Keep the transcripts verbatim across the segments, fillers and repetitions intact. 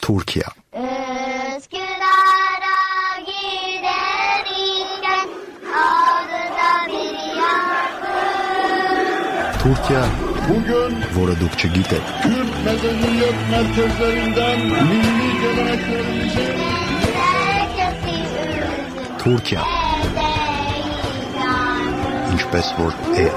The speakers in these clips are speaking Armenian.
Թուրքիա։ Թուրքիա, որը դուք չգիտեք։ Kürt medeniyet merkezlerinden milli geleneklerimizi Թուրքիա, ինչպես որ է։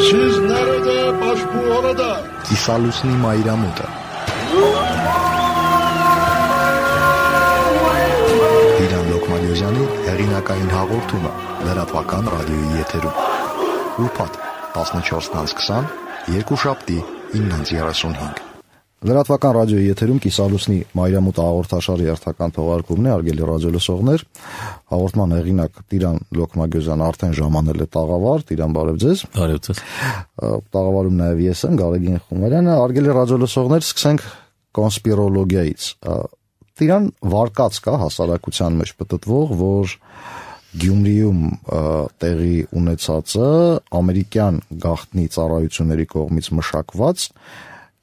Siz nerede, başbu orada. Կիսալուսնի մայրամուտը։ Տիրան Լոկմանյոզյանի հեղինակային հաղորդումը լրատվական ռադիոյի եթերում։ Ուրբաթ տասնչորս քսան, երկուշաբթի ինը երեսունհինգ։ Լրատվական ռադիոյի եթերում Կիսալուսնի մայրամուտ հաղորդաշարի հերթական թողարկումն է, արգելի ռադիոլսողներ։ Հաղորդման հեղինակ Տիրան Լոկմանյոզյանը արդեն ժամանել է տաղավար։ Տիրան, բարև ձեզ։ Բարև ձեզ։ Տաղավարում նաև ես եմ, Գարեգին Խումարյանը։ Արգելի ռադիոլսողներ, սկսենք կոնսպիրոլոգիայից։ Տիրան, վարկած կա հասարակության մեջ պտտվող, որ Գյումրիում տեղի ունեցածը ամերիկյան գաղտնի ծառայությունների կողմից մշակված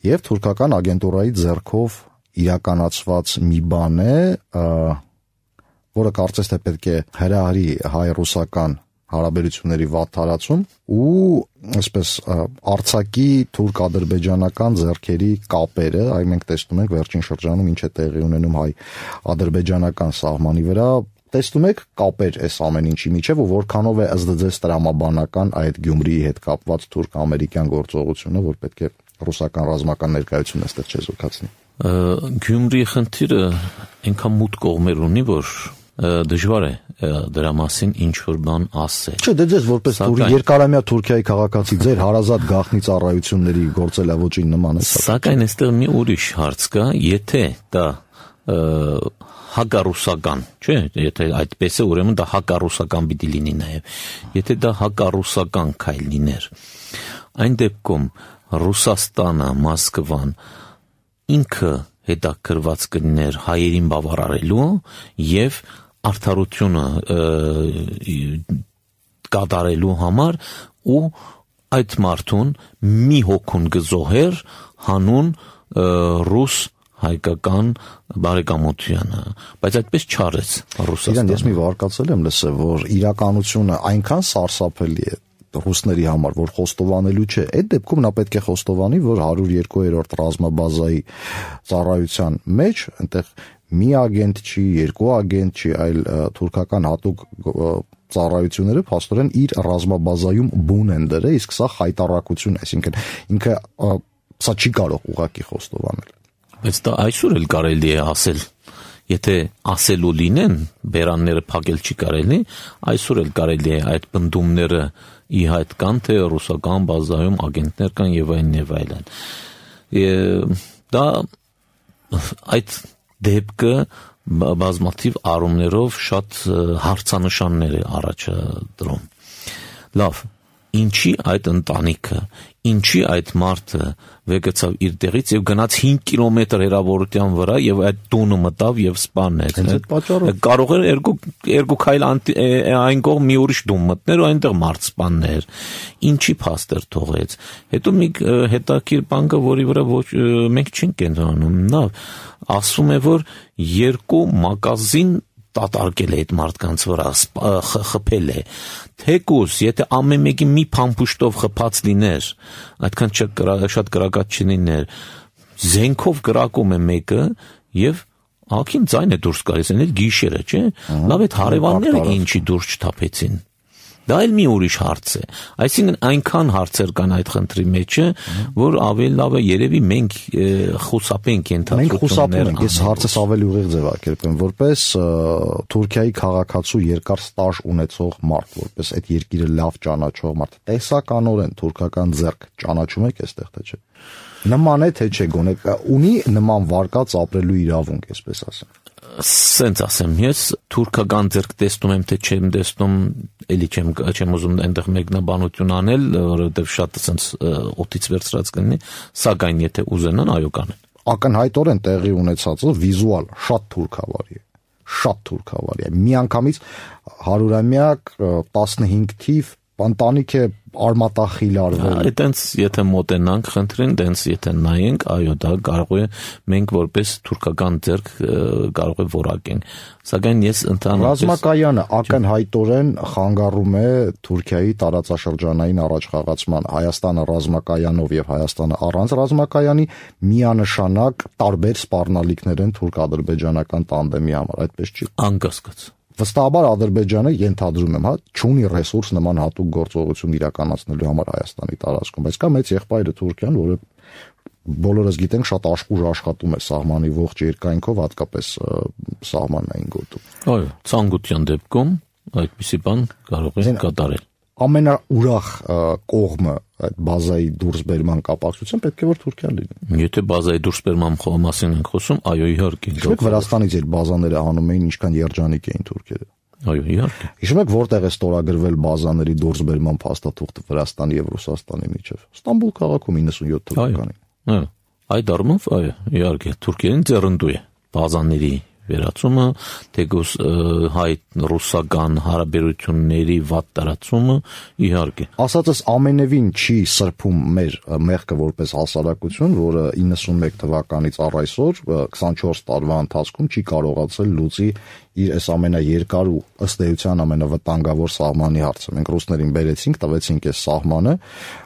եւ թուրքական ագենտուրայի ձեռքով իրականացված մի բան է, որը կարծես թե պետք է հրահրի հայ-ռուսական հարաբերությունների վատ տարածում ու այսպես արցակի թուրք-ադրբեջանական ձեռքերի կապերը, այ մենք տեսնում ենք վերջին շրջանում ինչ է տեղի ունենում հայ-ադրբեջանական սահմանի վրա, տեսնում եք կապեր այս ամեն ինչի միջև ու որքանով է ըստ ձեզ տրամաբանական այդ Գյումրիի հետ կապված թուրք-ամերիկյան գործողությունը, որ պետք է ռուսական ռազմական ներկայությունը այստեղ չեզոքացնի։ Գյումրիի խնդիրը այնքան մութ կողմեր ունի, որ դժվար է դրա մասին ինչ որ բան ասել։ Չէ, դե ձեզ որպես երկարամյա Թուրքիայի քաղաքացի ձեր հարազատ գաղտնի ծառայությունների գործելավոճին նման է։ Սակայն այստեղ մի ուրիշ հարց կա, եթե դա հակառուսական, չէ, եթե այդպես է, ուրեմն դա հակառուսական պիտի լինի նաև։ Եթե դա հակառուսական քայլ լիներ, այն դեպքում Ռուսաստանը, Մոսկվան ինքը հետաքրված կլիներ հայերին բավարարելու եւ արդարությունը կատարելու համար ու այդ մարդուն մի հոգուն գզոհեր հանուն ռուս հայկական բարեկամությանը, բայց այդպես չարեց Ռուսաստանը։ Իրան ես մի վարկածել եմ լսել, որ իրականությունը այնքան սարսափելի է ռուսների համար, որ խոստովանելու չէ, այդ դեպքում նա պետք է խոստովանի, որ հարյուր երկու-րդ ռազմաբազայի ծառայության մեջ այնտեղ մի ագենտ չի, երկու ագենտ չի, այլ թուրքական հատուկ ծառայությունները փաստորեն իր ռազմաբազայում բուն են դրել, իսկ սա խայտառակություն է, այսինքն ինքը սա չի կարող ուղղակի խոստովանել։ Բայց դա այսօր էլ կարելի է ասել, եթե ասելու լինեն, բերանները փակել չի կարելի, այսօր էլ կարելի է այդ բնդումները ի հայտ կան, թե ռուսական բազայում ագենտներ կան եւ այլն եւ այլն։ Դա այդ դեպքը բազմաթիվ առումներով շատ հարցանշաններ է առաջադրում։ Լավ, ինչի այդ ընտանիքը, ինչի այդ մարդը վեկեցավ իր տեղից եւ գնաց հինգ կիլոմետր հեռավորության վրա եւ այդ տունը մտավ եւ սպանեց։ Կարող էր երկու երկու քայլ այն կողմ մի ուրիշ տուն մտներ ու այնտեղ մարդ սպաններ։ Ինչի փաստեր թողեց։ Հետո մի հետաքրքիր բան կա, որի վրա ոչ մենք չենք կենտրոնանում։ Նա ասում է, որ երկու մագազին տատարկել է այդ մարդկանց վրա, խփել է։ Թեկուզ, եթե ամեն մեկի մի փամփուշտով խփած լիներ, այդքան շատ կրակած չլիներ, զենքով կրակում է մեկը եւ ակին ձայն է դուրս գալիս, այն էլ գիշերը, չէ՞։ Լավ այդ հարևանները ինչի դուրս չթափեցին։ Դա էլ մի ուրիշ հարց է։ Այսինքն այնքան հարցեր կան այդ խնդրի մեջը, որ ավելի լավ է երևի մենք խուսափենք ենթադրություններ։ Մենք խուսափում ենք, ես հարցս ավելի ուղիղ ձևակերպեմ, որպես Թուրքիայի քաղաքացու երկար ստաժ ունեցող մարդ, որպես այդ երկիրը լավ ճանաչող մարդ, տեսականորեն թուրքական ձեռք ճանաչում եք այստեղ թե չէ։ Նման է թե չէ, գոնե ունի նման վարկած ապրելու իրավունք, այսպես ասեմ։ Սենց ասեմ, ես թուրքական ձեռք տեսնում եմ, թե չեմ տեսնում, էլի չեմ չեմ ուզում այնտեղ մեկնաբանություն անել, որովհետև շատ սենց օդից վերցրած կլինի, սակայն եթե ուզենան, այո կանեն։ Ակնհայտորեն տեղի ունեցածը վիզուալ շատ թուրքավարի է, շատ թուրքավարի է։ Միանգամից հարյուրամյակ տասնհինգ թիվ Ընտանիք է արմատախիլ արվել։ Այդտենց եթե մոտենանք խնդրին, դենց եթե նայենք, այո, դա կարող է մենք որպես թուրքական ձեռք կարող է որակենք։ Սակայն ես ընդհանրապես ռազմակայանը ակնհայտորեն խանգարում է Թուրքիայի տարածաշրջանային առաջխաղացման, Հայաստանը ռազմակայանով եւ Հայաստանը առանց ռազմակայանի միանշանակ տարբեր սպառնալիքներ են թուրք-ադրբեջանական տանդեմի համար, այդպես չի։ Անկասկած Վստահաբար Ադրբեջանը ենթադրում եմ, հա, չունի ռեսուրս նման հատուկ գործողություն իրականացնելու համար Հայաստանի տարածքում, բայց կա մեծ եղբայրը Թուրքիան, որը բոլորս գիտենք շատ աշխուժ աշխատում է սահմանի ողջ երկայնքով, հատկապես սահմանային գոտում։ Այո, ցանկության դեպքում այդպիսի բան կարող է կատարել։ Ամենաուրախ կողմը այդ բազայի դուրսբերման կապակցությամբ պետք է որ Թուրքիան լինի։ Եթե բազայի դուրսբերման մասին ենք խոսում, այո, իհարկե։ Իսկ Վրաստանից իր բազաները հանում էին, ինչքան երջանիկ էին թուրքերը։ Այո, իհարկե։ Հիշում եք որտեղ է ստորագրվել բազաների դուրսբերման փաստաթուղթը Վրաստանի եւ Ռուսաստանի միջև։ Ստամբուլ քաղաքում իննսունյոթ թվականին։ Այո։ Այդ առումով, այո, իհարկե, Թուրքիան ձեռնդու է բազաների վերացումը, թեկուզ հայ-ռուսական հարաբերությունների վատ տարածումը, իհարկե։ Ասածս ամենևին չի սրբում մեր մեղքը որպես հասարակություն, որը իննսունմեկ թվականից առ այսօր քսանչորս տարվա ընթացքում չի կարողացել լուծի իր այս ամենաերկար ու ըստ էության ամենավտանգավոր սահմանի հարցը։ Մենք ռուսներին բերեցինք, տվեցինք այս սահմանը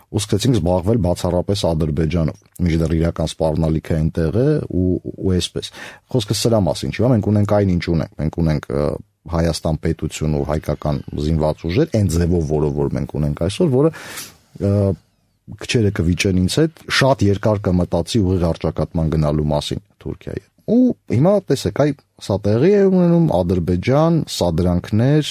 ու սկսեցինք զբաղվել բացառապես Ադրբեջանով։ Միջդեռ իրական սպառնալիքը այնտեղ է ու ու այսպես։ Խոսքը սրա մասին չի, մենք ունենք այն ինչ ունենք, մենք ունենք Հայաստան պետություն ու հայկական զինված ուժեր, այն ձևով, որով որ մենք ունենք այսօր, որը քչերը կվիճեն ինձ հետ, շատ երկար կմտածի ուղիղ առճակատման գնալու մասին Թուրքիայի։ Ու հիմա տեսեք, այ սա տեղի է ունենում Ադրբեջան, սադրանքներ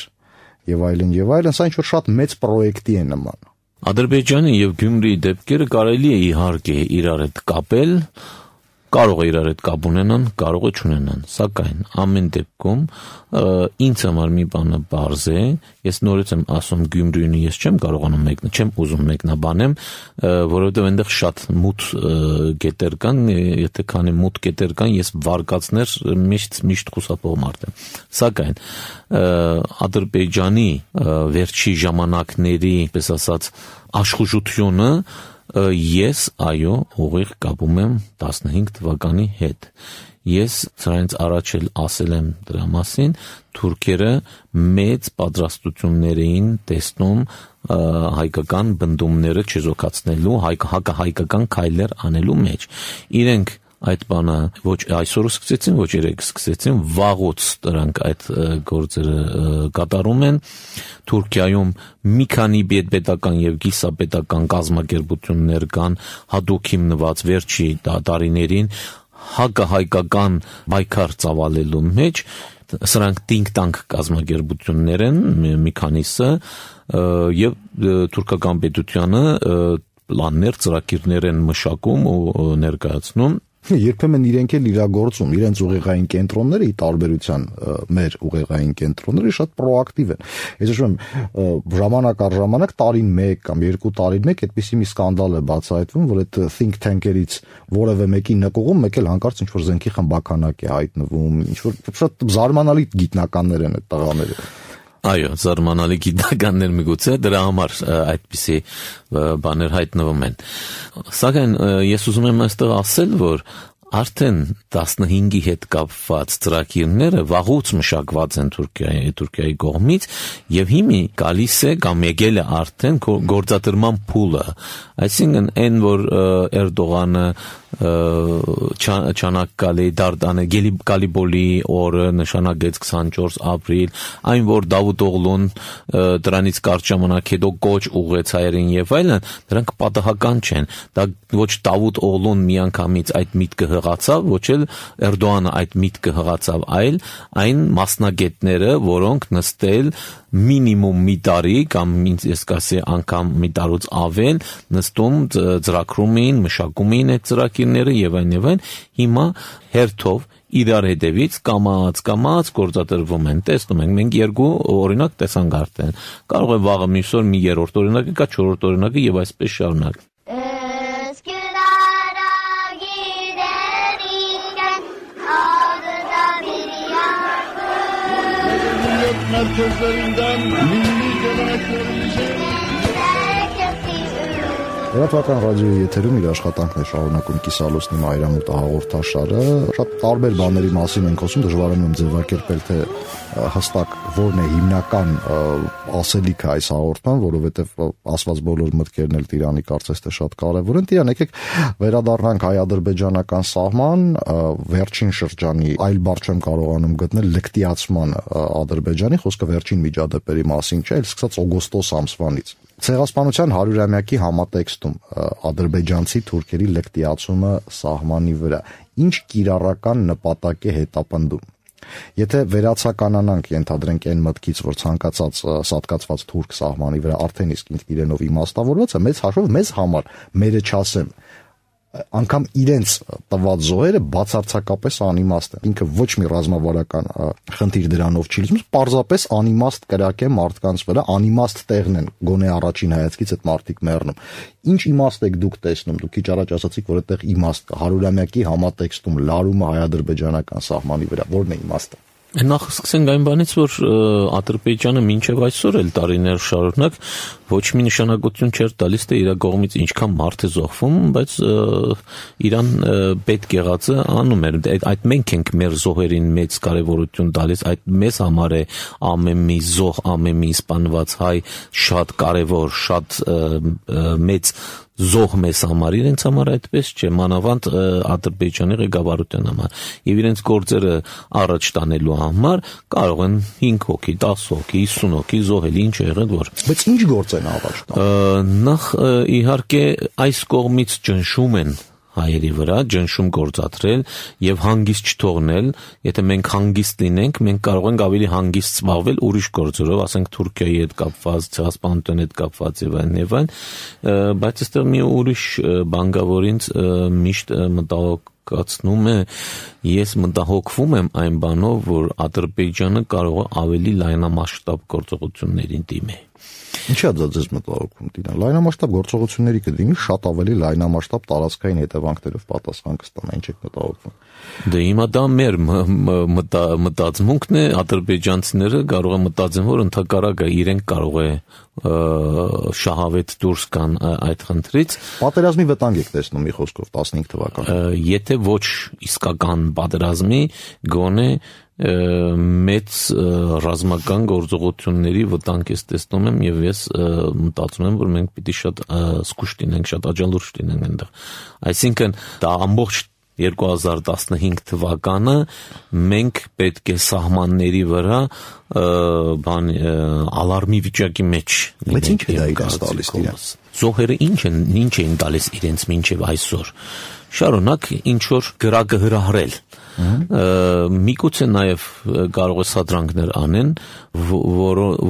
եւ այլն եւ այլն, սա ինչ որ շատ մեծ պրոյեկտի է նման։ Ադրբեջանի եւ Գյումրիի դեպքերը կարելի է իհարկե իրար հետ կապել, կարող է իրար հետ կապ ունենան, կարող է չունենան, սակայն ամեն դեպքում ինձ համար մի բանը բարձ է, ես նորից եմ ասում Գյումրիին ես չեմ կարողանում մեկնա, չեմ ուզում մեկնաբանեմ, որովհետեւ այնտեղ շատ մութ կետեր կան, եթե քանի մութ կետեր կան, ես վարկածներ միշտ միշտ խուսափող մարդ եմ։ Սակայն Ադրբեջանի վերջի ժամանակների, պես ասած, աշխուժությունը ես այո ուղիղ կապում եմ տասնհինգ թվականի հետ։ Ես սրանից առաջ էլ ասել եմ դրա մասին, թուրքերը մեծ պատրաստություններ էին տեսնում հայկական բնդումները չեզոքացնելու, հակահայկական քայլեր անելու մեջ։ Իրենք այդ բանը ոչ այսօր սկսեցին, ոչ երեկ սկսեցին, վաղուց դրանք այդ գործերը կատարում են։ Թուրքիայում մի քանի պետական եւ գիսապետական կազմակերպություններ կան, հատուկ հիմնված վերջի տարիներին հակահայկական պայքար ծավալելու մեջ, սրանք think tank կազմակերպություններ են, մի քանիսը, եւ թուրքական պետությանը պլաններ, ծրագիրներ են մշակում ու ներկայացնում։ Երբեմն իրենք էլ իրագործում, իրենց ուղեղային կենտրոնները ի տարբերության մեր ուղեղային կենտրոնների շատ պրոակտիվ են։ Ես հիշում եմ ժամանակ առ ժամանակ տարին մեկ կամ երկու տարին մեկ այդպիսի մի սկանդալ է բացահայտվում, որ այդ think tank-երից որևէ մեկի նկուղում մեկ էլ հանկարծ ինչ որ զենքի խմբականակ է հայտնվում, ինչ որ շատ զարմանալի գիտնականներ են այդ տղաները։ Այո, զարմանալի գիտնականներ միգուցե դրա համար այդպիսի բաներ հայտնվում են։ Սակայն ես ուզում եմ այստեղ ասել, որ արդեն տասնհինգի հետ կապված ծրագիրները վաղուց մշակված են Թուրքիայի Թուրքիայի կողմից եւ հիմի գալիս է կամ եկել է արդեն գործադրման փուլը, այսինքն այն որ Էրդողանը չանակալի դարտանը Գալիբոլի օրը նշանակեց քսանչորս ապրիլ, այն որ Դավութ Օղլուն դրանից կարճ ժամանակ հետո կոչ ուղղեց հայերին եւ այլն, դրանք պատահական չեն։ Դա ոչ Դավութ Օղլուն միանգամից այդ միտքը հղացավ, ոչ էլ Էրդողանը այդ միտքը հղացավ, այլ այն մասնագետները, որոնք նստել մինիմում մի տարի կամ ես կասի անգամ մի տարուց ավել նստում ծրագրում էին, մշակում էին այդ ծրագիրները եւ այն եւ այն, հիմա հերթով իրար հետևից կամած կամած գործադրվում են։ Տեսնում ենք, մենք երկու օրինակ տեսանք արդեն։ Կարող է վաղը մյուս օր մի երրորդ օրինակը կա, չորրորդ օրինակը եւ այսպես շարունակ։ Merkezlerinden milli geleneklerimizi Լրատվական ռադիոյի եթերում իր աշխատանքն է շարունակում Կիսալոսնի մայրամուտ հաղորդաշարը։ Շատ տարբեր բաների մասին ենք խոսում, դժվար է ձևակերպել, թե հստակ որն է հիմնական ասելիքը այս հաղորդման, որովհետև ասված բոլոր մտքերն էլ Տիրանի կարծես թե շատ կարևոր են։ Տիրան, եկեք վերադառնանք հայ-ադրբեջանական սահման, վերջին շրջանի այլ բառ չեմ կարողանում գտնել, լկտիացման Ադրբեջանի, խոսքը վերջին միջադեպերի մասին չէ, այլ սկսած օգոստոս ամսվանից։ Ցեղասպանության հարյուրամյակի համատեքստում ադրբեջանցի թուրքերի լկտիացումը սահմանի վրա ինչ կիրառական նպատակ է հետապնդում։ Եթե վերացականանանք, ենթադրենք այն մտքից, որ ցանկացած սատկացված թուրք սահմանի վրա արդեն իսկ իրենով իմաստավորված է, մեծ հաշվով մեզ համար, մերը չասեմ, անգամ իրենց տված զոհերը բացարձակապես անիմաստ են։ Ինքը ոչ մի ռազմավարական խնդիր դրանով չի լուծում, պարզապես անիմաստ կրակ է մարդկանց վրա, անիմաստ տեղն են, գոնե առաջին հայացքից այդ մարդիկ մեռնում։ Ինչ իմաստ եք դուք տեսնում, դուք քիչ առաջ ասացիք, որ այդտեղ իմաստ կա, հարյուրամյակի համատեքստում լարումը հայ-ադրբեջանական սահմանի վրա, որն է իմաստը։ Նախ սկսենք այն բանից, որ Ադրբեջանը մինչև այսօր էլ տարիներ շարունակ ոչ մի նշանակություն չէր տալիս, թե իր կողմից ինչքան մարդ է զոհվում, բայց իրան պետք եղածը անում էր։ Այդ մենք ենք մեր զոհերին մեծ կարևորություն տալիս, այդ մեզ համար է ամեն մի զոհ, ամեն մի սպանված հայ շատ կարևոր, շատ մեծ զոհ մեզ համար, իրենց համար այդպես չէ, մանավանդ Ադրբեջանի ղեկավարության համար, եւ իրենց գործերը առաջ տանելու համար կարող են հինգ հոգի, դաս հոգի, հիսուն հոգի զոհել, ինչ է եղել որ։ Բայց ինչ գործ են առաջ տանում։ Նախ իհարկե այս կողմից ճնշում են հայերի վրա, ճնշում գործադրել եւ հանգիստ չթողնել, եթե մենք հանգիստ լինենք, մենք կարող ենք ավելի հանգիստ զբաղվել ուրիշ գործերով, ասենք Թուրքիայի հետ կապված, ցեղասպանության հետ կապված եւ այլն եւ այլն, բայց այստեղ մի ուրիշ բան կա, որ ինձ միշտ մտահոգացնում է, ես մտահոգվում եմ այն բանով, որ Ադրբեջանը կարող է ավելի լայնամասշտաբ գործողություններին դիմել։ Ինչա՞ դա ձեզ մտահոգում դինա։ Լայնամասշտաբ գործողությունների կդիմի, շատ ավելի լայնամասշտաբ տարածքային հետևանքներով պատասխան կստանա, ինչ եք մտահոգվում։ Դե հիմա դա մեր մտածմունքն է, ադրբեջանցիները կարող են մտածեն, որ ընդհակառակը իրենք կարող է շահավետ դուրս գան այդ խնդրից։ Պատերազմի վտանգ եք տեսնում մի խոսքով տասնհինգ թվականին։ Եթե ոչ իսկական պատերազմի, գոնե մեծ ռազմական գործողությունների վտանգ ես տեսնում եմ եւ ես մտածում եմ, որ մենք պիտի շատ զգուշ լինենք, շատ աջալուրջ լինենք այնտեղ։ Այսինքն դա ամբողջ երկու հազար տասնհինգ թվականը մենք պետք է սահմանների վրա բան ալարմի վիճակի մեջ լինենք։ Բայց ինչ է դա իրենց տալիս իրենց։ Զոհերը ինչ են, ինչ էին տալիս իրենց մինչև այսօր։ Շարունակ ինչ որ գրակը հրահրել։ Միգուցե նաև կարող է սադրանքներ անեն,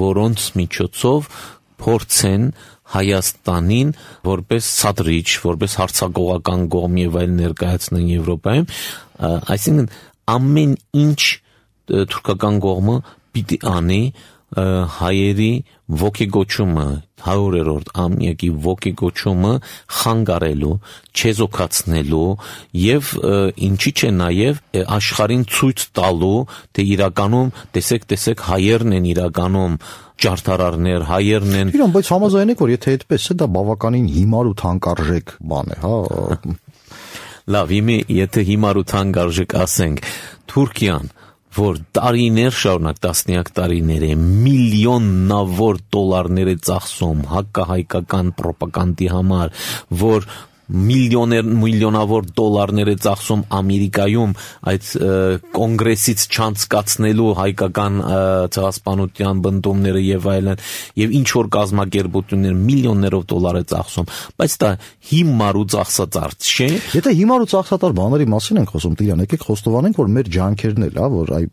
որոնց միջոցով փորձեն Հայաստանին որպես սադրիչ, որպես հարձակողական կողմ եւ այլ ներկայացնեն Եվրոպայում, այսինքն ամեն ինչ թուրքական կողմը պիտի անի հայերի ոգեգոճումը, հարյուրերորդ ամյակի ոգեգոճումը խանգարելու, չեզոքացնելու եւ ինչի՞ չէ նաեւ աշխարհին ցույց տալու, թե իրականում տեսեք, տեսեք հայերն են իրականում ջարդարարներ, հայերն են։ Իրան, բայց համաձայն եք, որ եթե այդպես է, դա բավականին հիմար ու թանկարժեք բան է, հա։ Լավ, իմի, եթե հիմար ու թանկարժեք ասենք, Թուրքիան, որ տարիներ շարունակ տասնյակ տարիներ է միլիոնավոր դոլարներ է ծախսում հակահայկական ռոպագանդի համար, որ միլիոներ միլիոնավոր դոլարներ է ծախսում Ամերիկայում այդ կոնգրեսից չանցկացնելու հայկական ցեղասպանության բնդումները եւ այլն եւ ինչ որ կազմակերպություններ միլիոններով դոլար է ծախսում, բայց դա հիմար ու ծախսածարդ չէ։ Եթե հիմար ու ծախսատար բաների մասին ենք խոսում, Տիրան, եկեք խոստովանենք, որ մեր ջանքերն էլ, հա, որ այ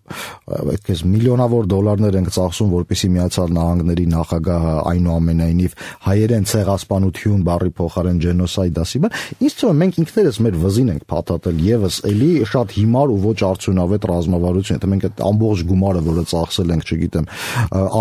այդպես միլիոնավոր դոլարներ ենք ծախսում, որպեսզի Միացյալ Նահանգների նախագահը այնուամենայնիվ հայերեն ցեղասպանություն բառի փոխարեն ջենոսայդ ասի, բան, ինձ թվում է մենք ինքներս մեր վզին ենք փաթաթել եւս էլի շատ հիմար ու ոչ արդյունավետ ռազմավարություն, թե մենք այդ ամբողջ գումարը, որը ծախսել ենք, չգիտեմ,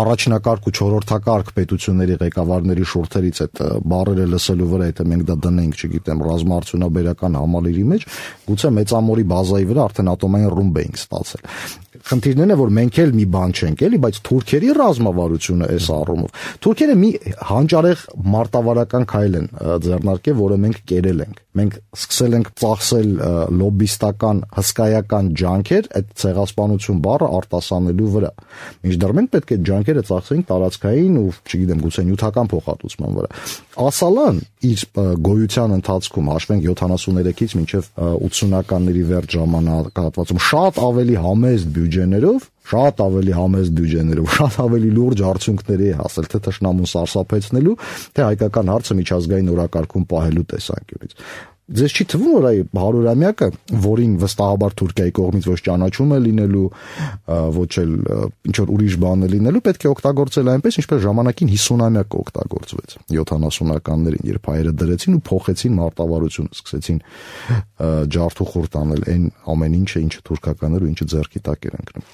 առաջնակարգ ու չորրորդակարգ պետությունների ղեկավարների շուրթերից այդ բառերը լսելու վրա, եթե մենք դա դնենք, չգիտեմ, ռազմաարդյունաբերական համալիրի մեջ, գուցե մեծամորի բազայի վրա արդեն ատոմային ռումբ էինք ստացել։ Խնդիրն է, որ մենք էլ մի բան չենք էլի, բայց թուրքերի ռազմավարությունը այս առումով։ Թուրքերը մի հանճարեղ մարտավարական քայլ են ձեռնարկել, որը մենք կերել ենք։ Մենք սկսել ենք ծախսել լոբիստական, հսկայական ջանքեր այդ ցեղասպանություն բառը արտասանելու վրա։ Մինչդեռ մենք պետք է ջանքերը ծախսենք տարածքային ու, չգիտեմ, գուցե նյութական փոխհատուցման վրա։ Ասալան իր գոյության ընթացքում հաշվենք յոթանասուններեքից մինչև ութսունականների վերջ ժամանակահատվածում շատ ավելի համեստ բյուջեներով, շատ ավելի համեստ բյուջեներով, շատ ավելի լուրջ արդյունքների է հասել, թե թշնամուն սարսափեցնելու, թե հայկական հարցը միջազգային օրակարգում պահելու տեսանկյունից։ Ձեզ չի թվում, որ այ հարյուրամյակը, որին վստահաբար Թուրքիայի կողմից ոչ ճանաչում է լինելու, ոչ էլ ինչ որ ուրիշ բան է լինելու, պետք է օգտագործել այնպես, ինչպես ժամանակին հիսունամյակը օգտագործվեց յոթանասունականներին, երբ հայերը դրեցին ու փոխեցին մարտավարությունը, սկսեցին ջարդուխորտ անել այն ամեն ինչը, ինչը թուրքականներ ու ինչը ձեռքի տակ էր ընկնում։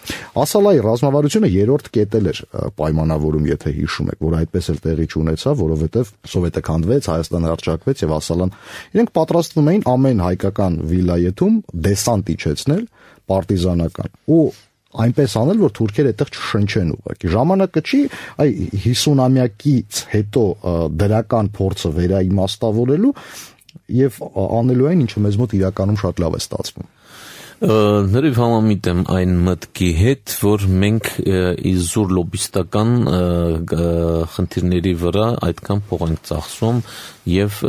Ասալայի ռազմավարությունը երրորդ կետել էր պայմանավորում, եթե հիշում եք, որ այդպես էլ տեղի չունեցավ, որովհետև Սովետը քանդվեց, Հայաստանը հռչակվեց եւ ասալան իրենք պատրաստվում էին ամեն հայկական վիլայեթում դեսանտ իջեցնել պարտիզանական ու այնպես անել, որ թուրքերը այդտեղ չշնչեն ուղղակի։ Ժամանակը չի այ հիսունամյակից հետո դրական փորձը վերաիմաստավորելու եւ անելու այն, ինչը մեզ մոտ իրականում շատ լավ է ստացվում։ Ներիվ համամիտ եմ այն մտքի հետ, որ մենք իզուր լոբիստական խնդիրների վրա այդքան փող ենք ծախսում եւ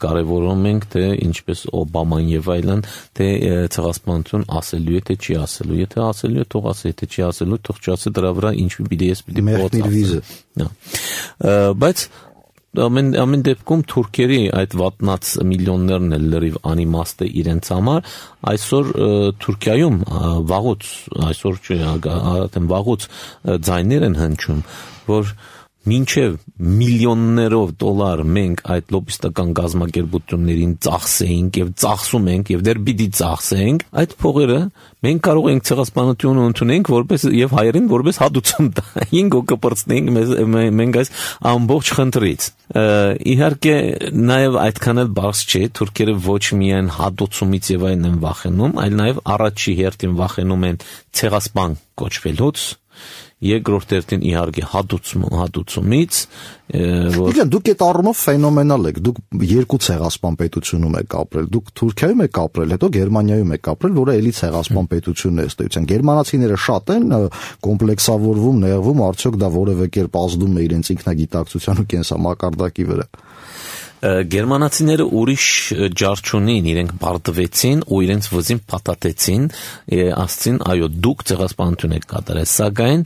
կարեւորում ենք, թե ինչպես Օբաման եւ այլն, թե ցեղասպանություն ասելու է, թե չի ասելու։ Եթե ասելու է, թող ասի, եթե չի ասելու, թող չասի, դրա վրա ինչ պիտի ես պիտի փոխի։ Բայց Ամեն ամեն դեպքում թուրքերի այդ վատնած միլիոններն էլ լրիվ անիմաստ է իրենց համար այսօր Թուրքիայում վաղուց այսօր չի արդեն վաղուց ձայներ են հնչում որ մինչև միլիոններով դոլար մենք այդ լոբիստական գազམ་ակերպություններին ծախսեինք եւ ծախսում ենք եւ դեռ պիտի ծախսենք այդ փողերը մենք կարող ենք ցեղասպանությունը ընդունենք որպես եւ հայերին որպես հատուցում տայինք ու կպրծնենք մենք այս ամբողջ խնդրից իհարկե նաեւ այդքան էլ բարձ չէ թուրքերը ոչ միայն հատուցումից եւ այլն են վախենում այլ նաեւ առաջի հերթին վախենում են ցեղասպան կոչվելուց երկրորդ հերթին իհարկե հատուցում հատուցումից որ Իդեն դուք այդ առումով ֆենոմենալ եք դուք երկու ցեղասպան պետությունում եք ապրել դուք Թուրքիայում եք ապրել հետո Գերմանիայում եք ապրել որը էլի ցեղասպան պետությունն է ըստեյության գերմանացիները շատ են կոմպլեքսավորվում նեղվում արդյոք դա որևէ կերպ ազդում է իրենց ինքնագիտակցության ու կենսամակարդակի վրա Գերմանացիները ուրիշ ջար չունին, իրենք բարդվեցին ու իրենց վզին փաթաթեցին, ասցին, այո, դուք ցեղասպանություն եք կատարել, սակայն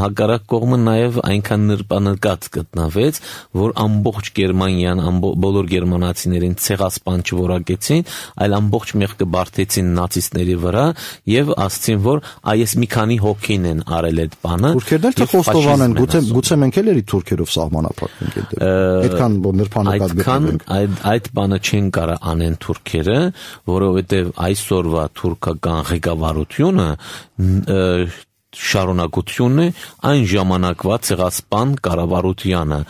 հակառակ կողմը նաև այնքան նրբանկատ գտնվեց, որ ամբողջ Գերմանիան, բոլոր գերմանացիներին ցեղասպան չորակեցին, այլ ամբողջ մեղքը բարդեցին նացիստների վրա եւ ասցին, որ այս մի քանի հոգին են արել այդ բանը։ Թուրքերն էլ թե խոստովան են, գուցե գուցե մենք էլ էլի թուրքերով սահմանափակվենք այդ։ Այդքան նրբանկատ Այդքան այդ այդ բանը չեն կարող անեն թուրքերը, որովհետև այսօրվա թուրքական ղեկավարությունը շարունակությունն է այն ժամանակվա ցեղասպան կառավարությանը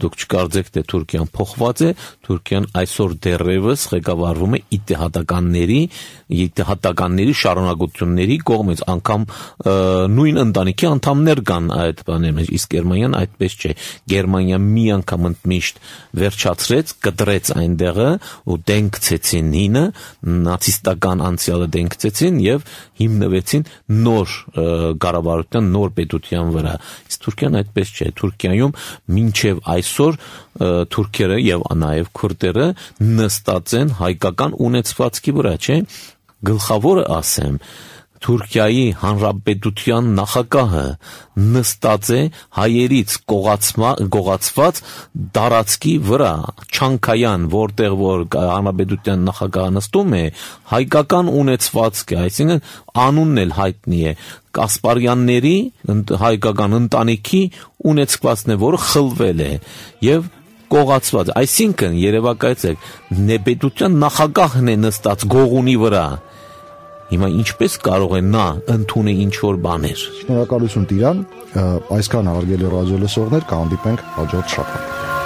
դուք չկարծեք թե Թուրքիան փոխված է Թուրքիան այսօր դեռևս ղեկավարվում է իդեհատականների իդեհատականների շարունակությունների կողմից անգամ նույն ընտանիքի անդամներ կան այդ բանի մեջ իսկ Գերմանիան այդպես չէ Գերմանիան մի անգամ ընդմիշտ վերջացրեց կտրեց այնտեղը ու դենքցեցին հինը նացիստական անցյալը դենքցեցին եւ հիմնվեցին նոր կառավարության նոր պետության վրա իսկ Թուրքիան այդպես չէ Թուրքիայում մինչև այսօր թուրքերը եւ նաեւ քուրդերը նստած են հայկական ունեցվածքի վրա չէ գլխավորը ասեմ Թուրքիայի հանրապետության նախագահը նստած է հայերից գողացված տարածքի վրա Չանկայան որտեղ որ հանրապետության նախագահը նստում է հայկական ունեցվածքը այսինքն անունն էլ հայտնի է Կասպարյանների հայկական ընտանիքի ունեցվածքն է որը խլվել է եւ կողացված, այսինքն երևակայեցեք, նեբեդության նախագահն է նստած գողունի վրա։ Հիմա ինչպես կարող է նա ընդունել ինչ-որ բաներ։ Շնորհակալություն Տիրան, այսքան հարգելի ռադիոլսողներ, կհանդիպենք հաջորդ շաբաթ։